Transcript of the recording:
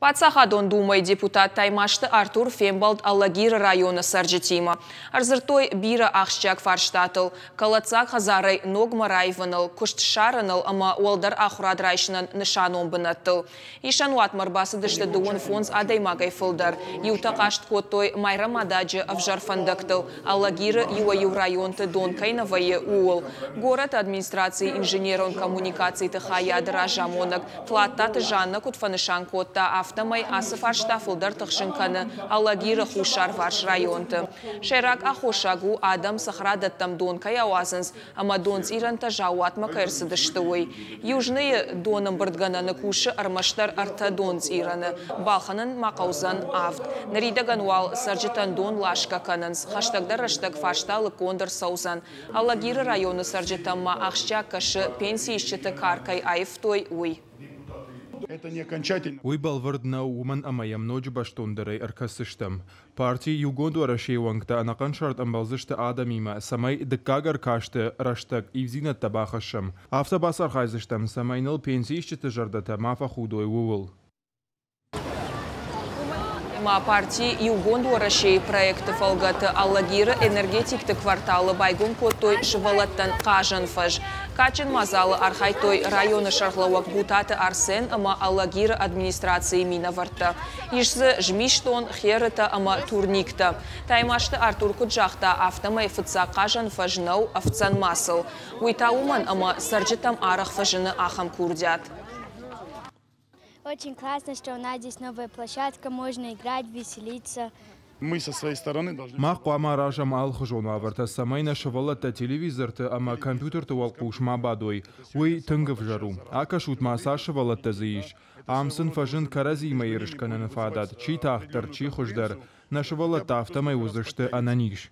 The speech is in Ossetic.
Паддзахадон Думӕйы депутат Таймазты Артур фембӕлд Алагиры районы цӕрджытимӕ. Ӕрдзырдтой бирӕ ахсджиаг фарстатыл, кӕлӕддзаг хӕдзарӕй ногмӕ раивыныл, куыст ссарыныл ӕмӕ уӕлдӕр ахуырад райсынӕн нысанон бынӕттыл. Исӕнуатмӕ ӕрбацыдысты 35 адӕймагӕй фылдӕр. Иутӕ хъаст кодтой Майрӕмададжы ӕвзӕр фӕндӕгтыл, Алагиры иуӕй-иу районты дон кӕй нӕ вӕййы, ууыл. Горӕты администрацийы инженерон коммуникациты хайады разамонӕг Тлаттаты Жаннӕ куыд фӕнысан кодта, афтӕмӕй ацы фарста фылдӕр тыхсын кӕны Алагиры хуссарварс районты. Сӕйраг аххосаг у, адӕм цӕхӕрадӕттӕм дон кӕй ауадзынц ӕмӕ донцъирӕнтӕ заууатмӕ кӕй ӕрцыдысты, уый. Южныйы донӕмбырдгӕнӕны кусы ӕрмӕстдӕр ӕртӕ донцъирӕны, балхӕнын ма хъӕудзӕн авд. Ныридӕгӕн уал цӕрджытӕн дон ласгӕ кӕнынц, хӕстӕгдӕр рӕстӕг фарста лыггонд ӕрцӕудзӕн. Алагиры районы цӕрджытӕм ма ахсджиаг кӕсы, пенсиисджыты кар кӕй аивтой, уый. Уый бӕлвырд нӕу, уымӕн ӕмӕ йӕм ноджы бӕстондӕрӕй ӕркӕсдзыстӕм. Парти Иугонд Уӕрӕсейы уӕнгтӕ ӕнӕхъӕн сӕрд ӕмбӕлдзысты адӕмимӕ, цӕмӕй дыккаг ӕркасты рӕстӕг ивдзинӕдтӕ бахӕссӕм. Афтӕ бацархайдзыстӕм, цӕмӕй ныл пенсиисджыты зӕрдӕтӕ ма фӕхудой, ууыл. Ма парти Иугонд Уӕрӕсейы проекты фӕлгӕты Алагиры энергетикты кварталы байгом кодтой сывӕллӕттӕн хъазӕн фӕз. Кадджын мадзалы архайдтой районы сӕргълӕууӕг Бутаты Арсен ӕмӕ Алагиры администрацийы минӕвӕрттӕ. Ис дзы змисдон, херытӕ ӕмӕ турниктӕ. Таймазты Артур куыд загъта, афтӕмӕй фыццаг хъазӕн фӕз нӕу ӕфцӕн масыл. Уый та уымӕн, ӕмӕ цӕрджытӕм арӕх фӕзыны ахӕм курдиат. Очень классно, что у нас здесь новая площадка, можно играть, веселиться. Мы со своей стороны должны... Мах хъуамӕ аразӕм алыхуызон уавӕртӕ, цӕмӕй нӕ сывӕллӕттӕ телевизорты ӕмӕ компьютерты уӕлхъус ма бадой. Уый тынг ӕвзӕр у. Акӕсут-ма, цас сывӕллӕттӕ дзы ис. Ам сын фӕзынд кӕрӕдзиимӕ ерыс кӕныны фадат, чи тагъддӕр, чи хуыздӕр. Нӕ сывӕллӕттӕ афтӕмӕй уыдзысты ӕнӕниз.